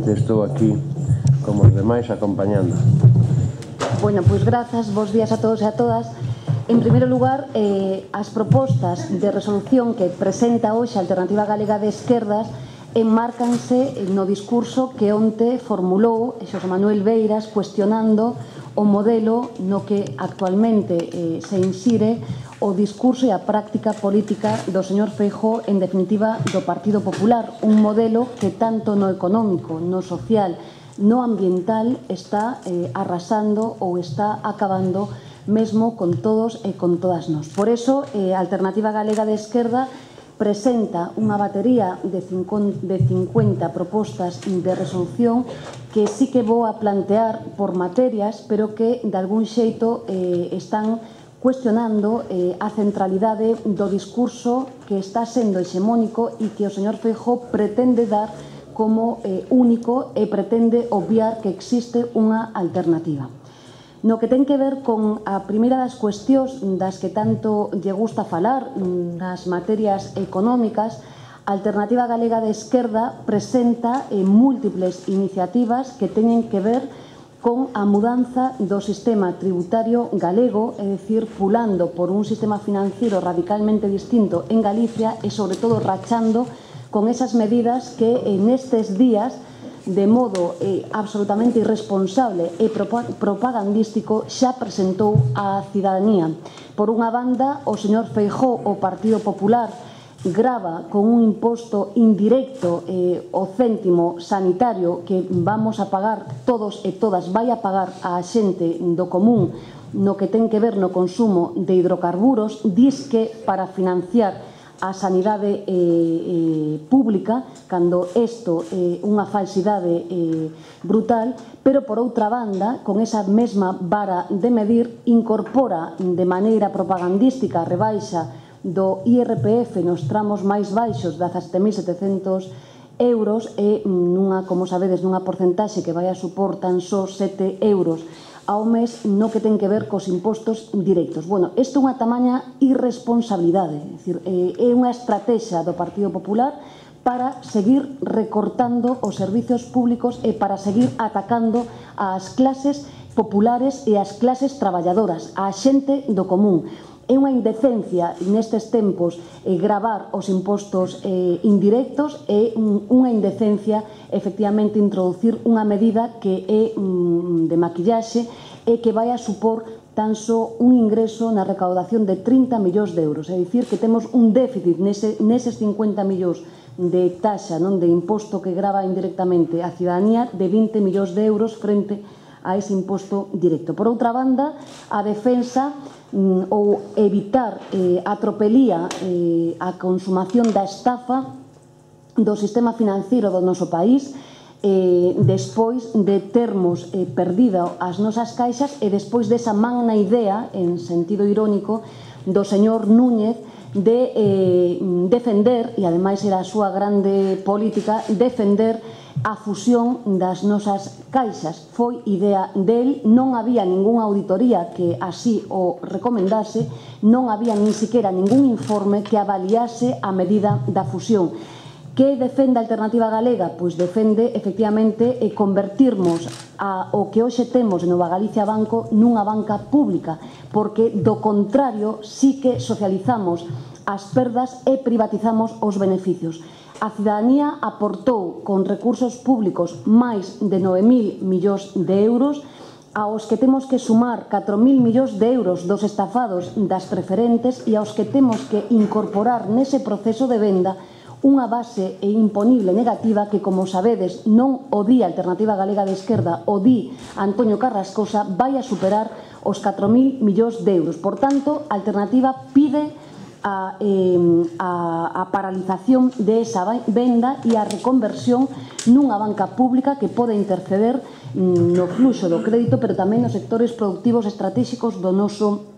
efectivamente estou aquí como os demais acompañando. Bueno, pois grazas, bos días a todos e a todas. En primeiro lugar, as propostas de resolución que presenta hoxe a Alternativa Galega de Esquerdas enmárcanse no discurso que onte formulou Xosé Manuel Beiras cuestionando o modelo no que actualmente se insire o discurso e a práctica política do señor Feijóo, en definitiva do Partido Popular, un modelo que tanto no económico, no social, no ambiental está arrasando ou está acabando mesmo con todos e con todas nós. Por eso, a Alternativa Galega de Esquerda presenta unha batería de 50 propostas de resolución que sí que vou a plantear por materias, pero que de algún xeito están cuestionando a centralidade do discurso que está sendo hexemónico e que o señor Feijóo pretende dar como único e pretende obviar que existe unha alternativa. No que ten que ver con a primeira das cuestións das que tanto lle gusta falar, nas materias económicas, a Alternativa Galega de Esquerda presenta múltiples iniciativas que teñen que ver con a mudanza do sistema tributario galego, é dicir, pulando por un sistema financiero radicalmente distinto en Galicia e, sobre todo, rachando con esas medidas que nestes días, de modo absolutamente irresponsable e propagandístico, xa presentou á cidadanía. Por unha banda, o señor Feijóo, o Partido Popular, grava con un imposto indirecto o céntimo sanitario que vamos a pagar todos e todas, vai a pagar a xente do común no que ten que ver no consumo de hidrocarburos, disque para financiar a sanidade pública, cando isto é unha falsidade brutal, pero por outra banda, con esa mesma vara de medir, incorpora de maneira propagandística a rebaixa do IRPF nos tramos máis baixos de 17.700 euros e, como sabedes, nunha porcentaxe que vai a supor tan só 7 euros ao mes no que ten que ver cos impostos directos. Bueno, isto é unha tamaña irresponsabilidade, é unha estrategia do Partido Popular para seguir recortando os servizos públicos e para seguir atacando ás clases populares e ás clases traballadoras, á xente do común. É unha indecencia nestes tempos gravar os impostos indirectos, é unha indecencia efectivamente introducir unha medida que é de maquillaxe e que vai a supor tan só un ingreso na recaudación de 30 millóns de euros. É dicir, que temos un déficit neses 50 millóns de taxa, de imposto que grava indirectamente a cidadanía, de 20 millóns de euros frente a ese imposto directo. Por outra banda, a defensa ou evitar a tropelía, a consumación da estafa do sistema financiero do noso país, despois de termos perdido as nosas caixas e despois desa magna idea, en sentido irónico, do señor Núñez de defender, e ademais era a súa grande política, defender a fusión das nosas caixas. Foi idea del, non había ningunha auditoría que así o recomendase, non había nin siquiera ningún informe que avaliase a medida da fusión. Que defende a Alternativa Galega? Pois defende, efectivamente, convertirmos o que hoxe temos en Nova Galicia Banco nunha banca pública, porque do contrario sí que socializamos as perdas e privatizamos os beneficios. A cidadanía aportou con recursos públicos máis de 9.000 millóns de euros, aos que temos que sumar 4.000 millóns de euros dos estafados das preferentes e aos que temos que incorporar nese proceso de venda unha base imponible negativa que, como sabedes, non o di a Alternativa Galega de Esquerda, o di Antonio Carrascosa, vai a superar os 4.000 millóns de euros. Por tanto, a Alternativa pide a paralización de esa venda e a reconversión nunha banca pública que pode interceder no fluxo do crédito, pero tamén nos sectores productivos estratégicos do noso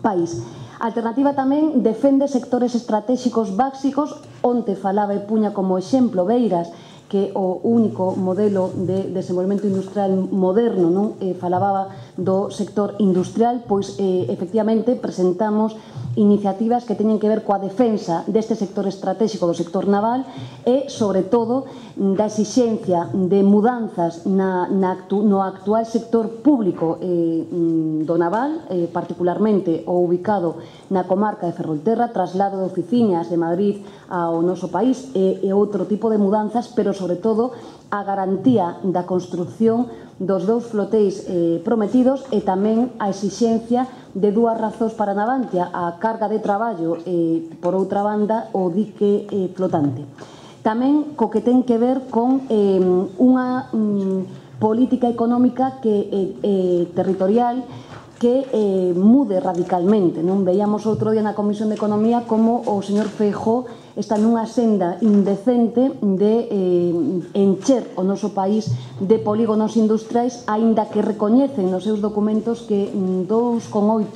país. A Alternativa tamén defende sectores estratégicos básicos, onte falaba e puña como exemplo Beiras, que o único modelo de desenvolvemento industrial moderno, falaba do sector industrial, pois efectivamente presentamos iniciativas que teñen que ver coa defensa deste sector estratégico do sector naval e, sobre todo, da exixencia de mudanzas no actual sector público do naval, particularmente o ubicado na comarca de Ferrolterra, traslado de oficinas de Madrid ao noso país e outro tipo de mudanzas, pero, sobre todo, a garantía da construción dos 2 flotéis prometidos e tamén a exixencia de 2 razóns para Navantia, a carga de traballo e, por outra banda, o dique flotante. Tamén co que ten que ver con unha política económica territorial que mude radicalmente. Non veíamos outro día na Comisión de Economía como o señor Feijóo está nunha senda indecente de encher o noso país de polígonos industriais, aínda que recoñecen nos seus documentos que 2,8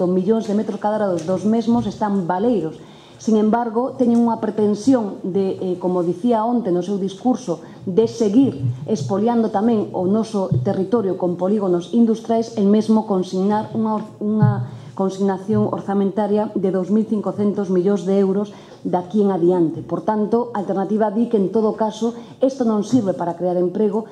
millóns de metros cadrados dos mesmos están baleiros. Sin embargo, teñen unha pretensión de, como dicía onte no seu discurso, de seguir expoliando tamén o noso territorio con polígonos industriais e mesmo consignar unha consignación orzamentaria de 2.500 millóns de euros de aquí en adiante. Por tanto, a alternativa di que, en todo caso, isto non sirve para crear emprego.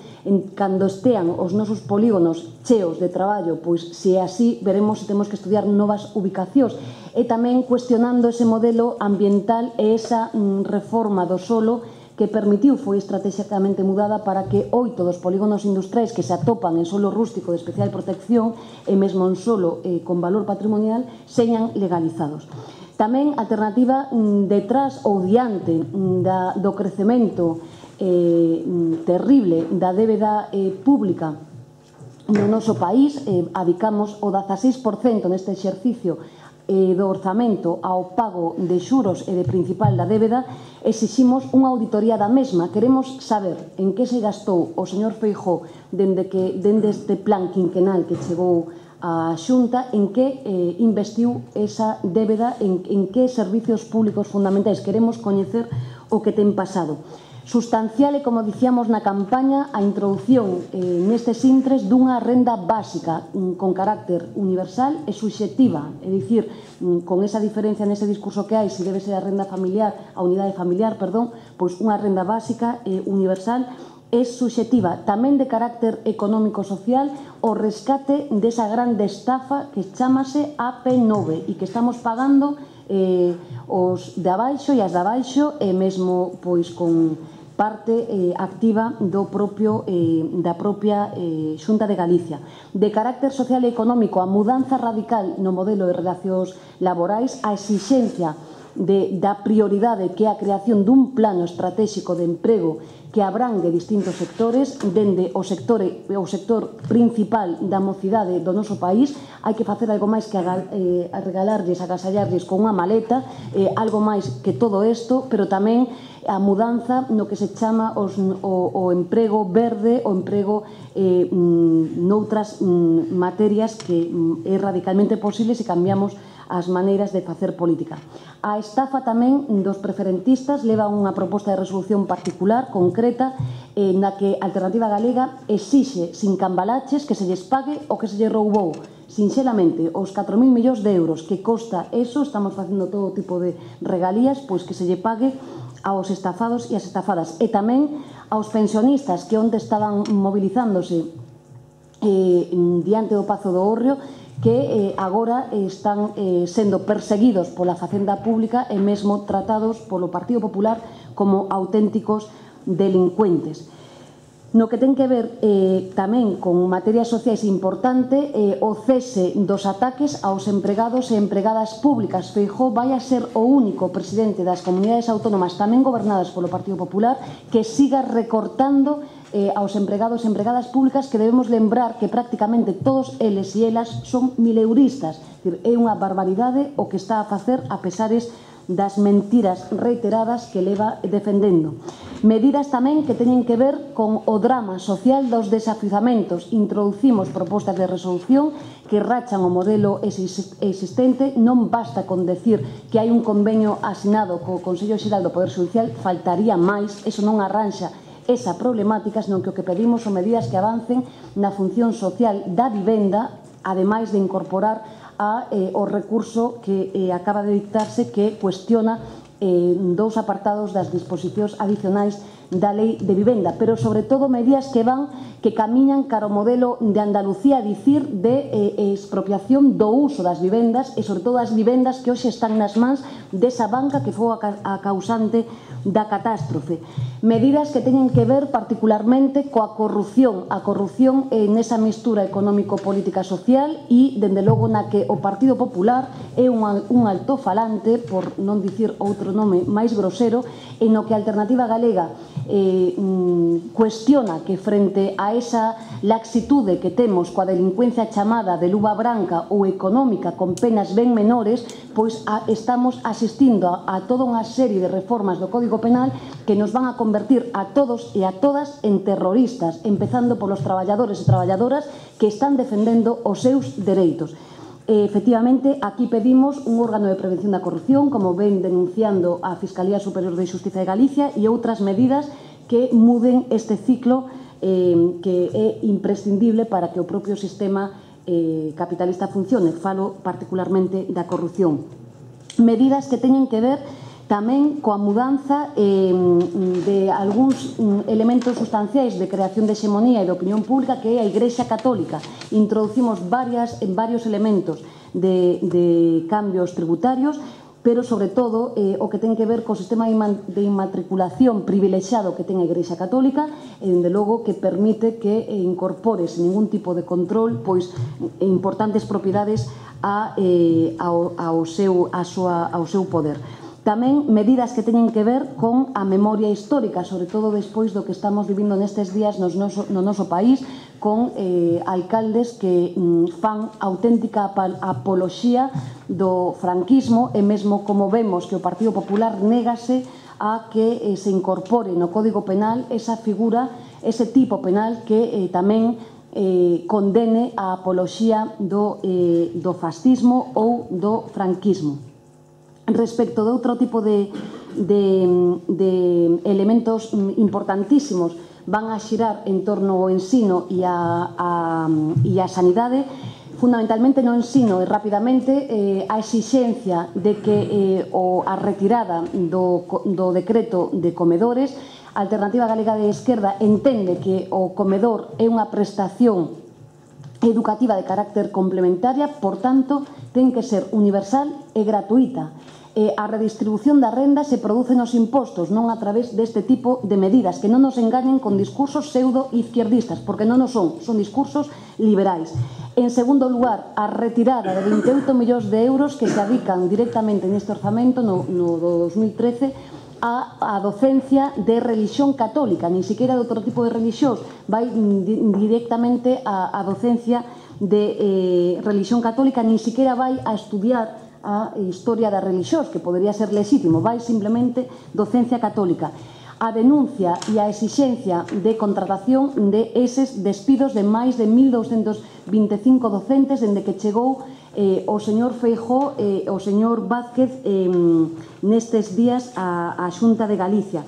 Cando estean os nosos polígonos cheos de traballo, pois, se é así, veremos se temos que estudiar novas ubicacións. E tamén cuestionando ese modelo ambiental e esa reforma do solo que permitiu, foi estratégicamente mudada para que 8 dos polígonos industriais que se atopan en solo rústico de especial protección e mesmo en solo con valor patrimonial señan legalizados. Tamén alternativa detrás ou diante do crecemento terrible da débeda pública no noso país, adicamos o 16% neste exercicio do orzamento ao pago de xuros e de principal da débeda, exiximos unha auditoría da mesma. Queremos saber en que se gastou o señor Feijóo dende este plan quinquenal que chegou a Xunta, en que investiu esa débeda, en que servicios públicos fundamentais. Queremos coñecer o que ten pasado. Sustancial e, como dicíamos na campaña, a introdución nestes intres dunha renda básica con carácter universal e subxectiva, é dicir, con esa diferencia nese discurso que hai, se debe ser a renda familiar, a unidade familiar, perdón, pois unha renda básica universal e subxectiva, tamén de carácter económico-social, o rescate desa grande estafa que chamase AP9 e que estamos pagando os de abaixo e as de abaixo e mesmo pois con parte activa da propia Xunta de Galicia. De carácter social e económico, a mudanza radical no modelo de relacións laborais, a exixencia da prioridade que é a creación dun plano estratégico de emprego que abrangue distintos sectores, dende o sector principal da mocidade do noso país. Hai que facer algo máis que regalarlles, agasallarlles con unha maleta, algo máis que todo isto, pero tamén a mudanza no que se chama o emprego verde, o emprego noutras materias que é radicalmente posible se cambiamos as maneiras de facer política. A estafa tamén dos preferentistas leva unha proposta de resolución particular, concreta, na que a Alternativa Galega exixe sin cambalaches que se lles pague o que se lles roubou. Sinxelamente, os 4.000 millóns de euros que costa eso, estamos facendo todo tipo de regalías, pois que se lle pague aos estafados e as estafadas. E tamén aos pensionistas que onde estaban movilizándose diante do Pazo do Hórreo, que agora están sendo perseguidos pola Facenda Pública e mesmo tratados polo Partido Popular como auténticos delincuentes. No que ten que ver tamén con materias sociais importante, o cese dos ataques aos empregados e empregadas públicas. Feijóo vai a ser o único presidente das comunidades autónomas tamén gobernadas polo Partido Popular que siga recortando aos empregados e empregadas públicas, que debemos lembrar que prácticamente todos eles e elas son mileuristas. É unha barbaridade o que está a facer a pesares das mentiras reiteradas que leva defendendo. Medidas tamén que teñen que ver con o drama social dos desafiuzamentos. Introducimos propostas de resolución que rachan o modelo existente. Non basta con decir que hai un convenio asinado co Consello Xeral do Poder Xudicial, faltaría máis, eso non arranxa esa problemática, senón que o que pedimos son medidas que avancen na función social da vivenda, ademais de incorporar ao recurso que acaba de dictarse, que cuestiona dous apartados das disposicións adicionais da Lei de Vivenda, pero sobre todo medidas que camiñan cara ao modelo de Andalucía, a dicir, de expropiación do uso das vivendas e sobre todo as vivendas que hoxe están nas mans desa banca que foi a causante da catástrofe. Medidas que teñen que ver particularmente coa corrupción, a corrupción nesa mistura económico-política social e, dende logo, na que o Partido Popular é un altofalante, por non dicir outro nome máis grosero, en no que a Alternativa Galega cuestiona que frente a esa laxitude que temos coa delincuencia chamada de luva branca ou económica con penas ben menores, pois estamos asistindo a toda unha serie de reformas do Código Penal que nos van a convertir a todos e a todas en terroristas, empezando polos traballadores e traballadoras que están defendendo os seus dereitos. Efectivamente, aquí pedimos un órgano de prevención da corrupción, como ven denunciando a Fiscalía Superior de Xustiza de Galicia, e outras medidas que muden este ciclo que é imprescindible para que o propio sistema capitalista funcione. Falo particularmente da corrupción. Medidas que teñen que ver tamén coa mudanza de algúns elementos sustanciais de creación de hexemonía e de opinión pública, que é a Igrexa Católica. Introducimos varios elementos de cambios tributarios, pero sobre todo o que ten que ver co sistema de inmatriculación privilexiado que ten a Igrexa Católica, e dende logo que permite que incorpore sen ningún tipo de control pois importantes propiedades ao seu poder. Tamén medidas que teñen que ver con a memoria histórica, sobre todo despois do que estamos vivindo nestes días no noso país, con alcaldes que fan auténtica apoloxía do franquismo, e mesmo como vemos que o Partido Popular négase a que se incorpore no Código Penal esa figura, ese tipo penal que tamén condene a apoloxía do fascismo ou do franquismo. Respecto de outro tipo de elementos importantísimos, van a xirar en torno ao ensino e a sanidade, fundamentalmente no ensino, e rapidamente a exixencia de que a retirada do decreto de comedores. A Alternativa Galega de Esquerda entende que o comedor é unha prestación educativa de carácter complementaria, por tanto, ten que ser universal e gratuita. A redistribución da renda se produce nos impostos, non a través deste tipo de medidas, que non nos engañen con discursos pseudo-izquierdistas, porque non o son discursos liberais. En segundo lugar, a retirada de 28 millóns de euros que se adican directamente neste orzamento no do 2013 a docencia de religión católica, nin siquiera de outro tipo de religións, vai directamente a docencia de religión católica, nin siquiera vai a estudiar a historia da religión, que podería ser lexítimo, vai simplemente docencia católica. A denuncia e a exixencia de contratación de eses despidos de máis de 1.225 docentes dende que chegou o señor Feijóo e o señor Vázquez nestes días á Xunta de Galicia.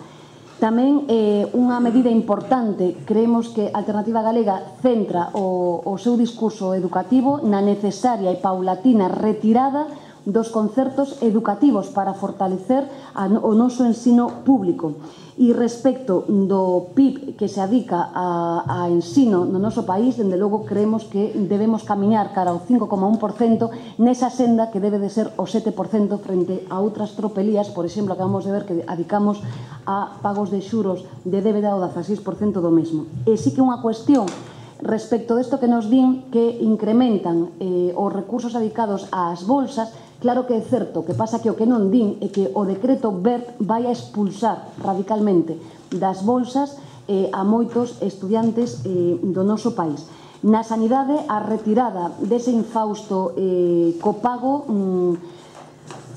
Tamén unha medida importante, creemos que a Alternativa Galega centra o seu discurso educativo na necesaria e paulatina retirada dos concertos educativos para fortalecer o noso ensino público. E respecto do PIB que se adica a ensino no noso país, dende logo creemos que debemos camiñar cara ao 5,1% nesa senda que debe de ser o 7% frente a outras tropelías, por exemplo, acabamos de ver que adicamos a pagos de xuros de débeda ao 16% do mesmo. E sí que unha cuestión respecto desto que nos din que incrementan os recursos adicados ás bolsas. Claro que é certo, que pasa que o que non din é que o decreto BERT vai a expulsar radicalmente das bolsas a moitos estudiantes do noso país. Na sanidade, a retirada dese infausto copago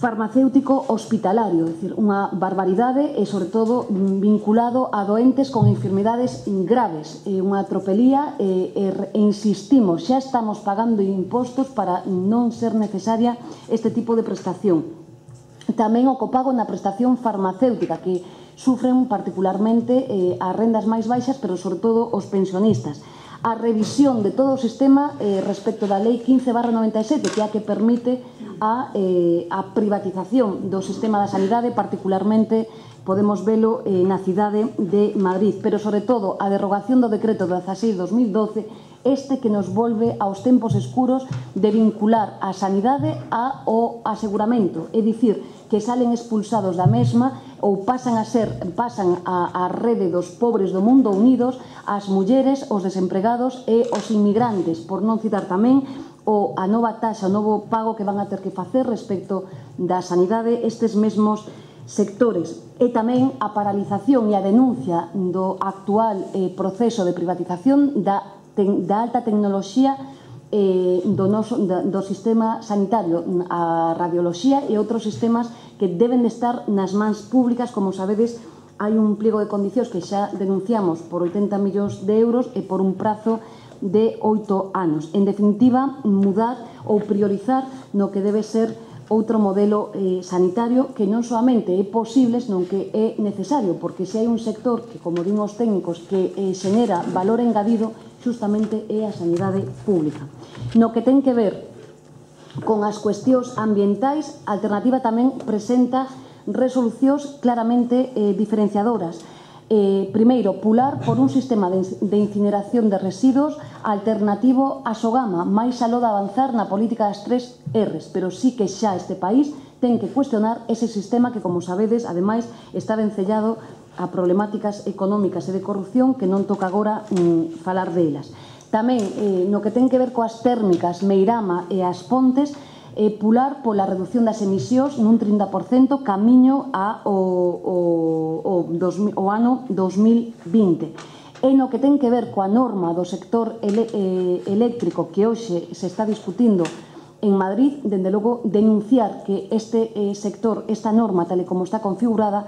farmacéutico hospitalario, é dicir, unha barbaridade e, sobre todo, vinculado a doentes con enfermidades graves. É unha tropelía e insistimos, xa estamos pagando impostos para non ser necesaria este tipo de prestación. Tamén o copago na prestación farmacéutica, que sufren particularmente as rendas máis baixas, pero, sobre todo, os pensionistas. a revisión de todo o sistema respecto da Lei 15/97, que é a que permite a privatización do sistema da sanidade, particularmente podemos velo na cidade de Madrid, pero sobre todo a derrogación do decreto 16/2012, este que nos volve aos tempos escuros de vincular a sanidade ao aseguramento, é dicir, que salen expulsados da mesma ou pasan a rede dos pobres do mundo unidos as mulleres, os desempregados e os inmigrantes, por non citar tamén a nova taxa, o novo pago que van a ter que facer respecto da sanidade estes mesmos sectores, e tamén a paralización e a denuncia do actual proceso de privatización da alta tecnoloxía do sistema sanitario, a radioloxía e outros sistemas que deben de estar nas mans públicas. Como sabedes, hai un pliego de condicións que xa denunciamos por 80 millóns de euros e por un prazo de 8 anos. En definitiva, mudar ou priorizar no que debe ser outro modelo sanitario que non solamente é posible, senón que é necesario, porque se hai un sector que, como din os técnicos, que xenera valor engadido, justamente é a sanidade pública. No que ten que ver con as cuestións ambientais, a Alternativa tamén presenta resolucións claramente diferenciadoras. Primeiro, pular por un sistema de incineración de residuos alternativo a Sogama, máis aló de avanzar na política das 3 Rs, pero sí que xa este país ten que cuestionar ese sistema que, como sabedes, ademais, está vencellado a problemáticas económicas e de corrupción que non toca agora falar delas. Tamén, no que ten que ver coas térmicas Meirama e as Pontes, pular pola reducción das emisións nun 30% camiño ao ano 2020. E no que ten que ver coa norma do sector eléctrico que hoxe se está discutindo en Madrid, dende logo denunciar que este sector, esta norma, tal e como está configurada,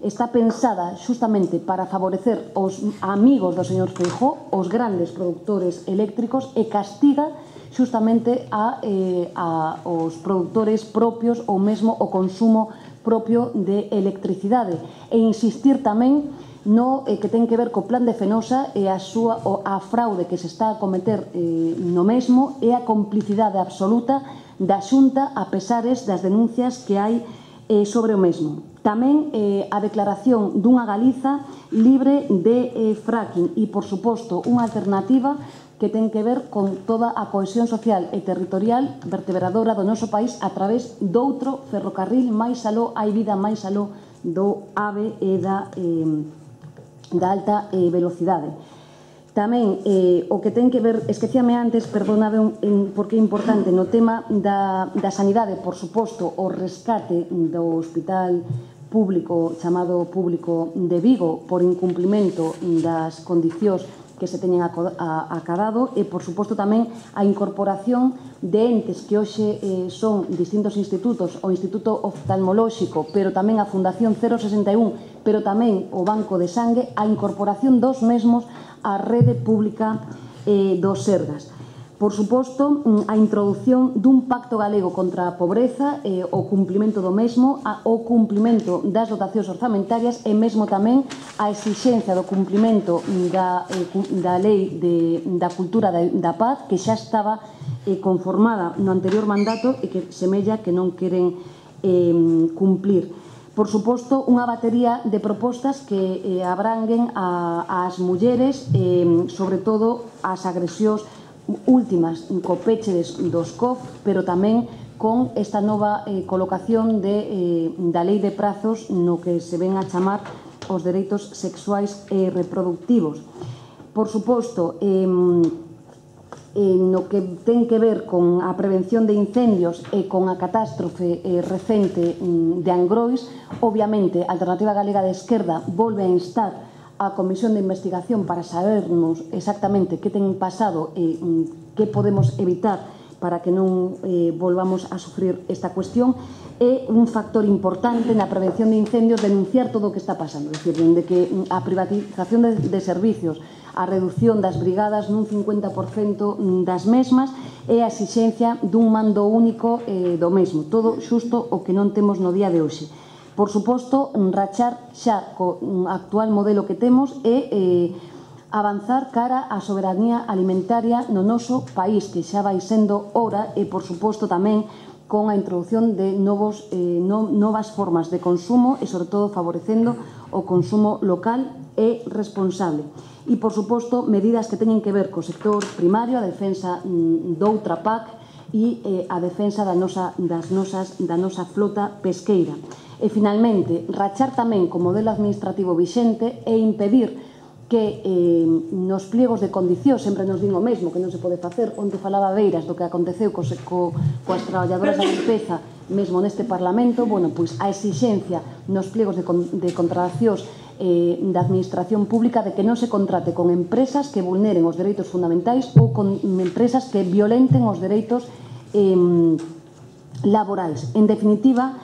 está pensada justamente para favorecer os amigos do señor Feijóo, os grandes productores eléctricos, e castiga justamente aos produtores propios ou mesmo o consumo propio de electricidade, e insistir tamén no que ten que ver co plan de Fenosa e a fraude que se está a cometer no mesmo e a complicidade absoluta da Xunta a pesares das denuncias que hai sobre o mesmo. Tamén a declaración dunha Galiza libre de fracking e, por suposto, unha alternativa que ten que ver con toda a cohesión social e territorial vertebradora do noso país a través doutro ferrocarril máis aló, hai vida máis aló do AVE e da alta velocidade. Tamén o que ten que ver, esquecíame antes, perdonade porque é importante, no tema da sanidade, por suposto, o rescate do hospital público, chamado público de Vigo, por incumplimento das condicións que se teñen acadado, e, por suposto, tamén a incorporación de entes que hoxe son distintos institutos, o Instituto Oftalmolóxico, pero tamén a Fundación 061, pero tamén o Banco de Sangue, a incorporación dos mesmos á rede pública dos Sergas. Por suposto, a introdución dun pacto galego contra a pobreza, o cumplimento do mesmo, o cumplimento das dotacións orzamentarias e mesmo tamén a exixencia do cumplimento da lei da cultura da paz, que xa estaba conformada no anterior mandato e que semella que non queren cumplir. Por suposto, unha batería de propostas que abranguen ás mulleres, sobre todo as agresións últimas co peche dos COF, pero tamén con esta nova colocación da lei de prazos no que se ven a chamar os dereitos sexuais e reproductivos. Por suposto, no que ten que ver con a prevención de incendios e con a catástrofe recente de Angrois, obviamente, a Alternativa Galega de Esquerda volve a instar a Comisión de Investigación para sabernos exactamente que ten pasado e que podemos evitar para que non volvamos a sufrir esta cuestión. É un factor importante na prevención de incendios denunciar todo o que está pasando, é dicir, dende que a privatización de servicios, a reducción das brigadas nun 50% das mesmas e a exixencia dun mando único do mesmo, todo xusto o que non temos no día de hoxe. Por suposto, rachar xa co actual modelo que temos e avanzar cara á soberanía alimentaria no noso país, que xa vai sendo hora, e, por suposto, tamén con a introducción de novas formas de consumo e, sobre todo, favorecendo o consumo local e responsable. E, por suposto, medidas que teñen que ver co sector primario, a defensa doutra PAC e a defensa da nosa flota pesqueira. E, finalmente, rachar tamén co modelo administrativo vixente e impedir que nos pliegos de condicións sempre nos din o mesmo, que non se pode facer. Onte falaba Beiras do que aconteceu coas traballadoras da limpeza mesmo neste Parlamento. Bueno, pois a exixencia nos pliegos de contratacións da administración pública de que non se contrate con empresas que vulneren os dereitos fundamentais ou con empresas que violenten os dereitos laborais. En definitiva,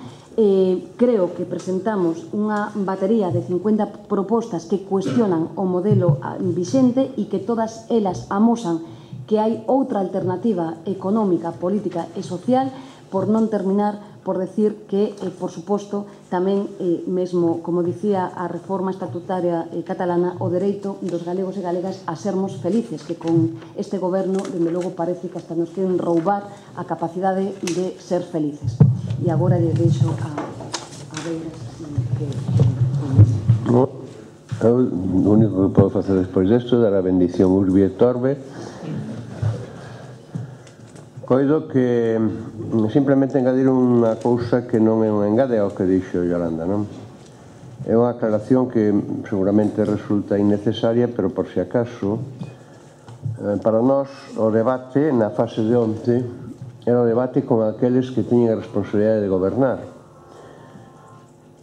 creo que presentamos unha batería de 50 propostas que cuestionan o modelo vixente e que todas elas amosan que hai outra alternativa económica, política e social, por non terminar por decir que, por suposto, tamén, mesmo, como dicía a reforma estatutaria catalana, o dereito dos galegos e galegas a sermos felices, que con este goberno, dende logo, parece que hasta nos queren roubar a capacidade de ser felices. E agora lle deixo a Beiras que... O único que podo facer despois desto é dar a bendición Urbi et Orbe. Coido que simplemente engadir unha cousa que non é un engade ao que dixo Yolanda, non? É unha aclaración que seguramente resulta innecesaria, pero por si acaso, para nós o debate na fase de onte era o debate con aqueles que teñen a responsabilidade de gobernar.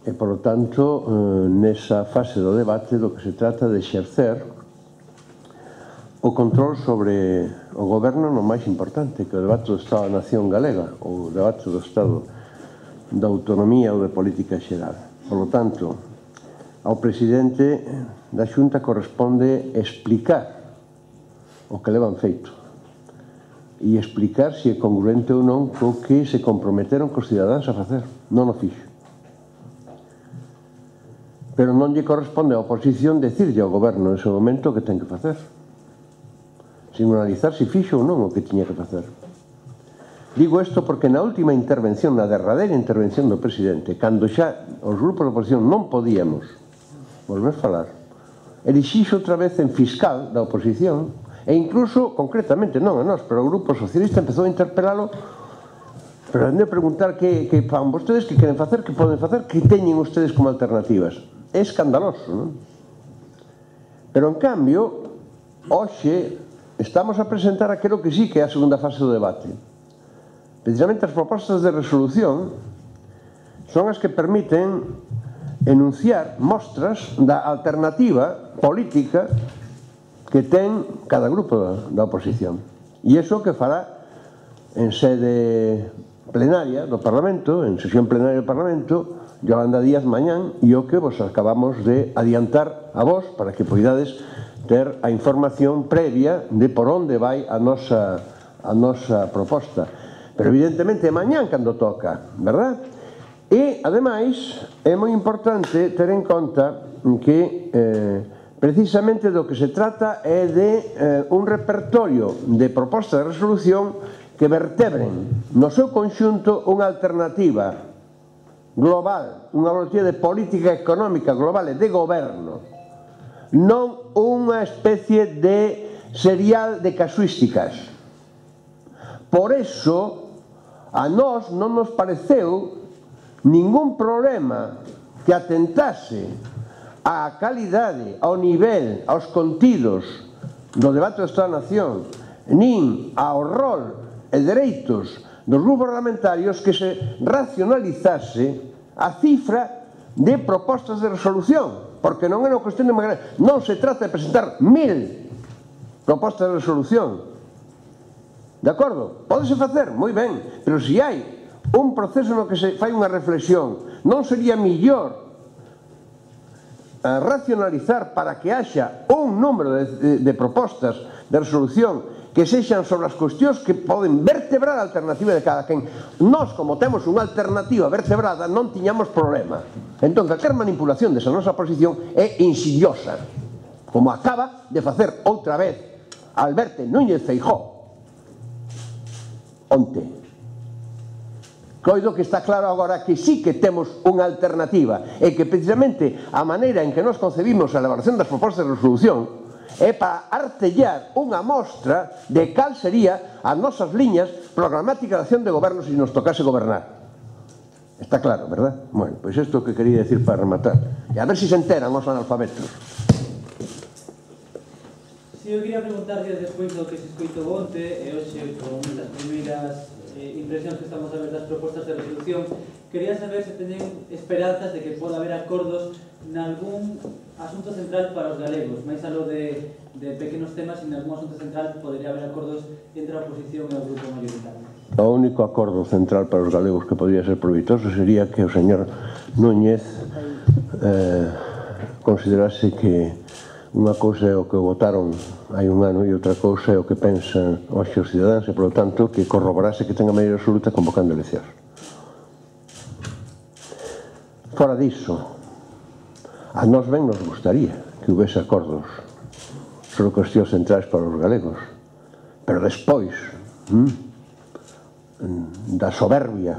E, por lo tanto, nesa fase do debate do que se trata de exercer o control sobre o goberno no máis importante, que é o debate do Estado da Nación Galega, ou o debate do Estado da autonomía ou de política xeral. Por lo tanto, ao presidente da Xunta corresponde explicar o que levan feito e explicar se é congruente ou non co que se comprometeron cos cidadáns a facer. Non o fixo. Pero non lle corresponde á oposición decirlle ao goberno nese momento o que ten que facer, sin analizar se fixo ou non o que tiña que facer. Digo isto porque na última intervención, na derradeira intervención do presidente, cando xa os grupos de oposición non podíamos volver a falar, elixixo outra vez en fiscal da oposición, e incluso, concretamente, non a nós, pero o Grupo Socialista empezou a interpelalo, pero a preguntar que fan vostedes, que queren facer, que poden facer, que teñen ustedes como alternativas. É escandaloso, non? Pero, en cambio, hoxe estamos a presentar aquilo que sí que é a segunda fase do debate. Precisamente as propostas de resolución son as que permiten enunciar mostras da alternativa política que ten cada grupo da oposición. E iso que fará en sede plenaria do Parlamento, en sesión plenaria do Parlamento, Yolanda Díaz mañán, e o que vos acabamos de adiantar a vos para que poidades ter a información previa de por onde vai a nosa proposta. Pero evidentemente mañán cando toca, verdad? E, ademais, é moi importante ter en conta que precisamente do que se trata é de un repertorio de propostas de resolución que vertebren no seu conxunto unha alternativa global, unha alternativa de política económica global e de goberno, non unha especie de serial de casuísticas. Por eso, a nós non nos pareceu ningún problema que atentase á calidade, ao nivel, aos contidos do debate do Estado da Nación, nin ao rol e dereitos dos grupos parlamentarios que se racionalizase a cifra de propostas de resolución, porque non é unha cuestión de magra. Non se trata de presentar 1000 propostas de resolución, de acordo? Pódese facer, moi ben, pero se hai un proceso no que se fai unha reflexión, non sería millor racionalizar para que haxa un número de propostas de resolución que sexan sobre as cuestións que poden vertebrar a alternativa de cada quen. Nós, como temos unha alternativa vertebrada, non tiñamos problema. Entón, calquer manipulación desa nosa posición é insidiosa. como acaba de facer outra vez Alberto Núñez Feijóo onte. Coido que está claro agora que sí que temos unha alternativa e que precisamente a maneira en que nos concebimos a elaboración das propostas de resolución é para artellar unha mostra de cal sería as nosas liñas programáticas de acción de goberno se nos tocase gobernar. Está claro, verdad? Bueno, pois isto que quería decir para rematar. E a ver se enteran os analfabetos. Si eu quería preguntarlle despois do que se escoitou onte e hoxe con as primeiras impresións que estamos a ver das propostas de resolución, quería saber se teñen esperanzas de que poda haber acordos nalgún asunto central para os galegos, máis aló de pequenos temas, en algún asunto central podería haber acordos entre a oposición e o grupo mayoritario. O único acordo central para os galegos que podría ser provitoso sería que o señor Núñez considerase que unha cousa é o que votaron hai un ano e outra cousa é o que pensan hoxe os cidadáns e, polo tanto, que corroborase que ten a maioría absoluta convocando eleccións. Fora disso, a nós ben nos gustaría que houvese acordos sobre cuestións centrais para os galegos, pero despois da soberbia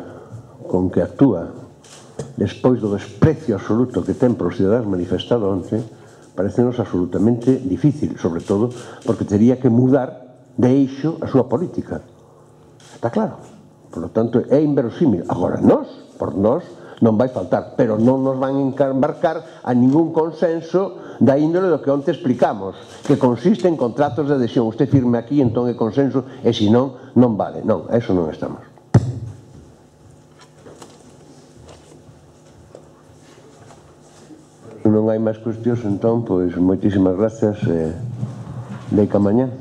con que actúa, despois do desprecio absoluto que ten para os cidadáns manifestado onte, parecenos absolutamente difícil, sobre todo porque tería que mudar de eixo a súa política. Está claro. Por lo tanto, é inverosímil. Agora, por nós, non vai faltar, pero non nos van embarcar a ningún consenso da índole do que onte explicamos, que consiste en contratos de adhesión. Usted firme aquí, entón é consenso, e se non, non vale. Non, a eso non estamos. Non hai máis cuestións, entón, pois, moitísimas gracias, deica mañá.